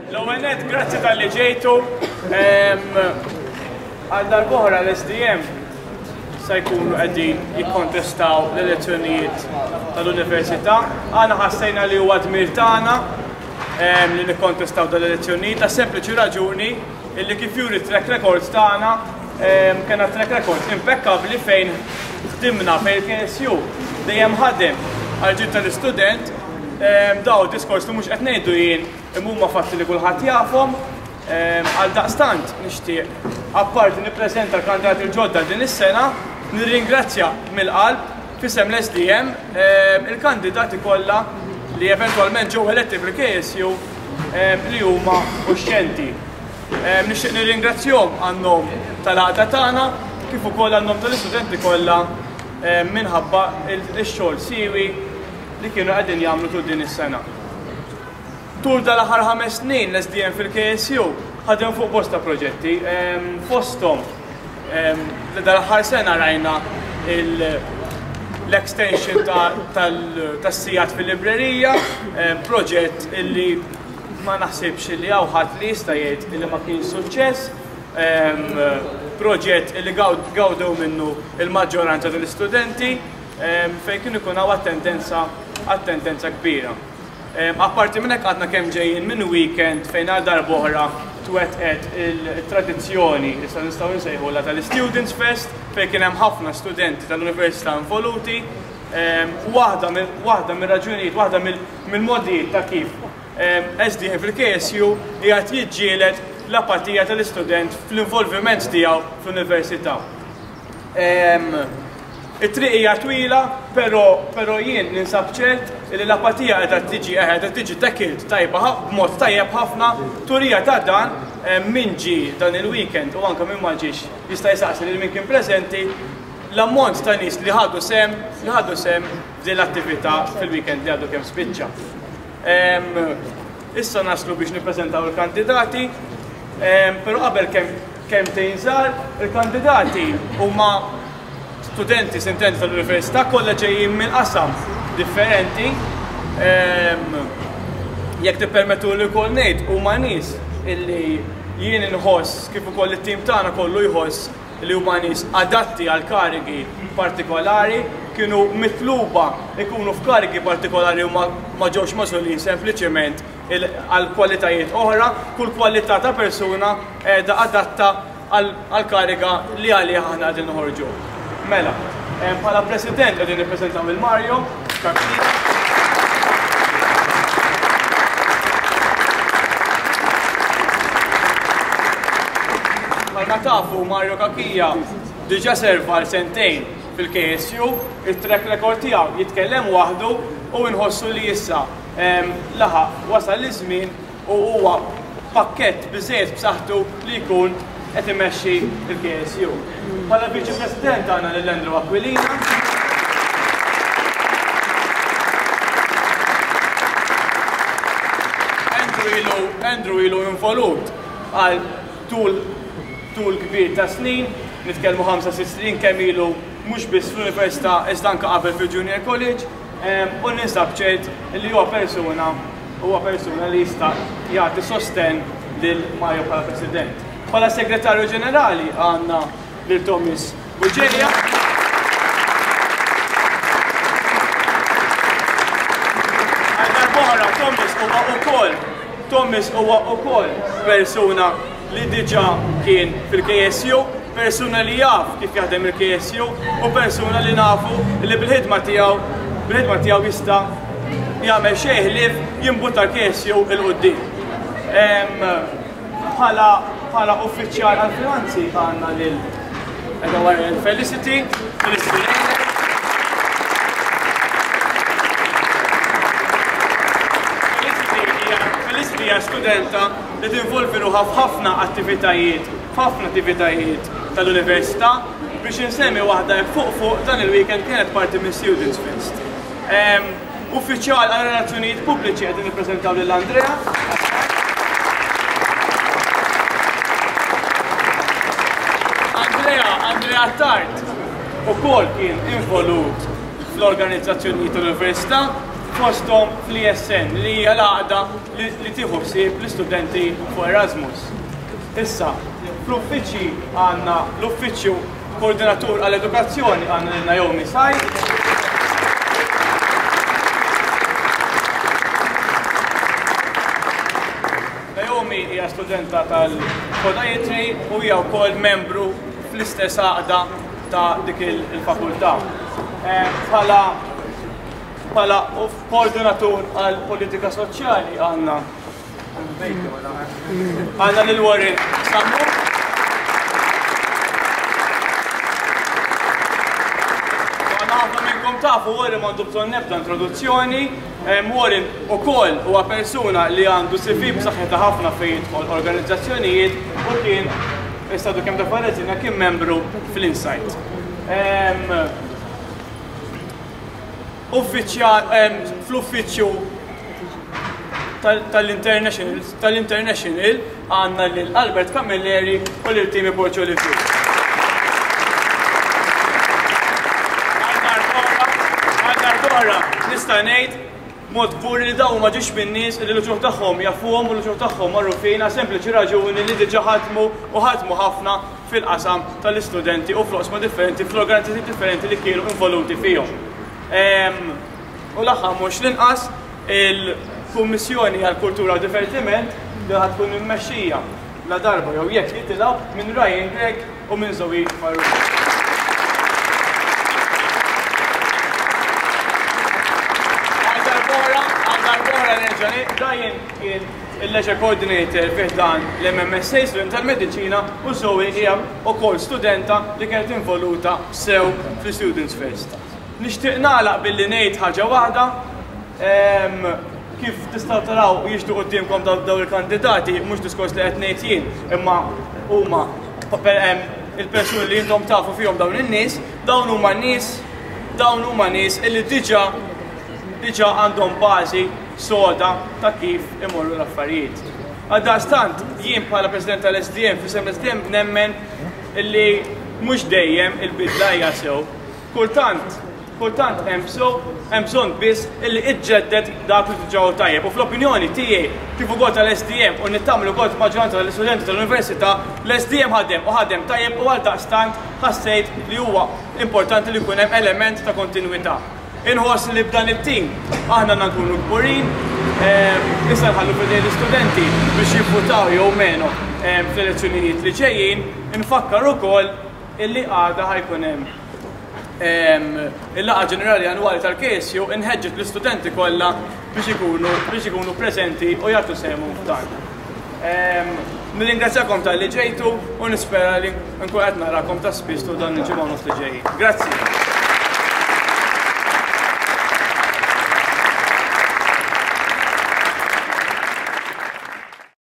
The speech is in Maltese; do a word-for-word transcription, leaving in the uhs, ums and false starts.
L-ewwel nett, grazzi talli ġejtu. Għal darb'oħra l-S D M se jkunu qegħdin jikkontestaw l-elezzjonijiet tal-Università. Aħna ħassejna li huwa dmir tagħna li nikkontestaw dal-elezzjonijiet ta' sempliċi raġuni illi kif juri track records tagħna, kellna track record impeccabli fejn ħdimna, fejn il-K S U dejjem ħadem għal tal-istudent. Daw diskors li mhux qed ngħidu jien, imma huma fatti li kulħadd jafhom. Għal daqstant nixtieq, apparti nippreżenta l-kandidati l-ġodda din is-sena, nirringrazzja mill-qalb f'isem l-S D M il-kandidati kollha li eventwalment ġew eletti fil-K S U li huma uxxenti. Nixtieq nirringrazzjahom għan-nom tal-għaqda tagħna kif ukoll għan-nom tal-istudenti kollha minħabba il-xogħol siwi li kienu qegħdin jagħmlu tul din is-sena. Tul dal-aħħar ħames snin l-S D M fil-K S U ħadem fuq bosta proġetti, fosthom dal-aħħar sena rajna l-extension tas-sigħat fil-librerija, proġett illi ma naħsibx li hawn ħadd li jista' jgħid illi ma kien suċċess, proġett illi gawdew minnu il-maġġoranza tal-istudenti, fejn kien ikun hawn attendenza attendenza kbira. Apparti minn hekk, għadna kemm ġejjin minn weekend fejn għal darb'oħra twettqet il-tradizzjoni, issa nistgħu nsejħulha, tal-Students Fest, fejn kien hemm ħafna studenti tal-università involuti. Waħda waħda mir-raġunijiet, waħda mill-modijiet ta' kif S D M fil-K S U qiegħed jiġġieled l-apatija tal-istudent fl-involviment tiegħu fl-università. It-triq hija twila, però però jien ninsab ċert li l-apatija qiegħda tiġi qiegħda tiġi tackled tajba b'mod tajjeb ħafna. Turija ta' dan, min ġi dan il-weekend u anke min ma ġiex jista' jsaqsi lil min kien preżenti l-ammont ta' nies li ħadu sehem li ħadu sehem f'din l-attività fil-weekend li għadu kemm spiċċa. Issa naslu biex nippreżentaw il-kandidati, però qabel kemm kelmtejn żgħar. Il-kandidati huma studenti sintenti tal-università, kollha ġejjin minn qasam differenti. Jekk tippermettu li wkoll ngħid, huma nies illi jien inħoss, kif ukoll it-tim tagħna kollu jħoss, li huma nies adatti għal karigi partikolari, kienu mitluba ikunu f'karigi partikolari u ma ġewx magħżulin sempliċement għal kwalitajiet oħra. Kull kwalità ta' persuna qiegħda adatta għal kariga li għaliha aħna qegħdin noħorġu. Mela, bħala president qegħdin nippreżentaw lil Mario Cachia. Bħalma tafu, Mario Cachia diġa serva għal sentejn fil-K S U, il-track record tiegħu jitkellem waħdu u nħossu li issa laħaq wasal iż-żmien u huwa pakkett biżejjed b'saħħtu li jkun qed imexxi il-K S U. Bħala Viċi President għandna lil Andrew Aquilina. Andrew ilu Andrew ilu involut għal tul tul kbir ta' snin, nitkellmu ħamsa sitt snin kemm ilu mhux biss fl-università iżda anke qabel fil-Junior College, u ninsab ċert li huwa persuna huwa persuna li jista' jagħti sosten lil Mario bħala President. Bħala Segretarju Ġenerali għandna lil Thomas Bugeja. Għal darb'oħra Thomas huwa ukoll Thomas huwa ukoll persuna li diġà kien fil-K S U, persuna li jaf kif jaħdem il-K S U u persuna li nafu li bil-ħidma tiegħu bil-ħidma tiegħu jista' jagħmel xejn ħlief jimbutta l-K S U 'l quddiem. Bħala bħala uffiċjal għal-finanzi għandna lil Edward Felicity, Felicity Felicity hija studenta li tinvolvi ruħha f'ħafna attivitajiet, f'ħafna attivitajiet tal-università. Biex insemmi waħda fuq fuq, dan il-weekend kienet parti minn Students Fest. Uffiċjal għal relazzjonijiet pubbliċi qegħdin nippreżentaw lil Andrea. Andrea, Andrea Tart ukoll kien involut fl-organizzazzjonijiet tal-università, Fosthom fl-E S N, li hija l-għaqda li tieħu ħsieb l-istudenti fuq Erasmus. Issa, fl-uffiċċji għandna l-uffiċċju koordinatur għall-edukazzjoni, għandna lil Naomi Said. Naomi hija studenta tal-podiatry u hija wkoll membru fl-istess għaqda ta' dik il-fakultà. Bħala bħala koordinatur għal politika soċjali għandna għandna lil Warren Sammu. Ħafna minnkom tafu Warren, m'għandu bżonn nebda introduzzjoni. Warren ukoll huwa persuna li għandu C V b'saħħitha ħafna fejn jidħol organizzazzjonijiet u kien istadu kemm ta' kien membru fl-Insight. Uffiċjal fl-uffiċċju tal-International tal-International għandna lil Albert Camilleri u lil Timi Borċo Livju. Għal darb'oħra nista' ngħid mod kbur li dawn ma ġiex minn nies li l-uċuħ tagħhom jafuhom u l-uċuħ tagħhom magħrufin għal sempliċi raġuni li diġà ħadmu u ħadmu ħafna fil-qasam tal-istudenti u fl-oqsma differenti, fl-organizzazzjoni differenti li kienu involuti fihom. U l-aħħar mhux l-inqas, il-Kummissjoni għal-Kultura u Divertiment, li ħa tkun immexxija la darba jew jekk jitilgħu minn Ryan Gregg u minn Zoe Farrugia. Għal darb'oħra, għal darb'oħra nerġa', Ryan kien il-leisure coordinator fi ħdan l-M M S A, student tal-mediċina, u Zoe hija wkoll studenta li kienet involuta sew fl-Students Fest. Nixtieq nagħlaq billi ngħid ħaġa waħda. Kif tistgħu taraw jiġdu quddiemkom dawn il-kandidati, mhux diskors li qed ngħid jien, imma huma il-persuni li intom tafu fihom dawn in-nies, dawn huma nies, dawn huma nies illi diġà diġà għandhom bażi soda ta' kif imorru l-affarijiet. Għaldaqstant, jien bħala President tal-S D M, f'isem l-S D M nemmen illi mhux dejjem il-bidla hija sew. Kultant, kultant hemm hemm bżonn biss illi iġġedded dak li diġà tajjeb. U fl-opinjoni tiegħi, kif ukoll tal-S D M u nittamlu ukoll maġġoranza tal-istudenti tal-università, l-S D M ħadem u ħadem tajjeb u għaldaqstant ħassejt li huwa importanti li jkun hemm element ta' kontinwità. Inħoss li b'dan it-tim aħna nkunu kburin, issa nħallu f'idejn l-istudenti biex jivvutaw jew meno fl-elezzjonijiet li ġejjin. Infakkar ukoll illi għada ħa jkun hemm il-laqgħa ġenerali annwali tal-K S U, inħeġġet l-istudenti kollha biex ikunu biex ikunu preżenti u jagħtu sehemhom f'dan. Nirringrazzjakom talli ġejtu u nispera li nkun qed narakom ta' spiss dan il-ġimgħa nofs li ġejjin. Grazzi.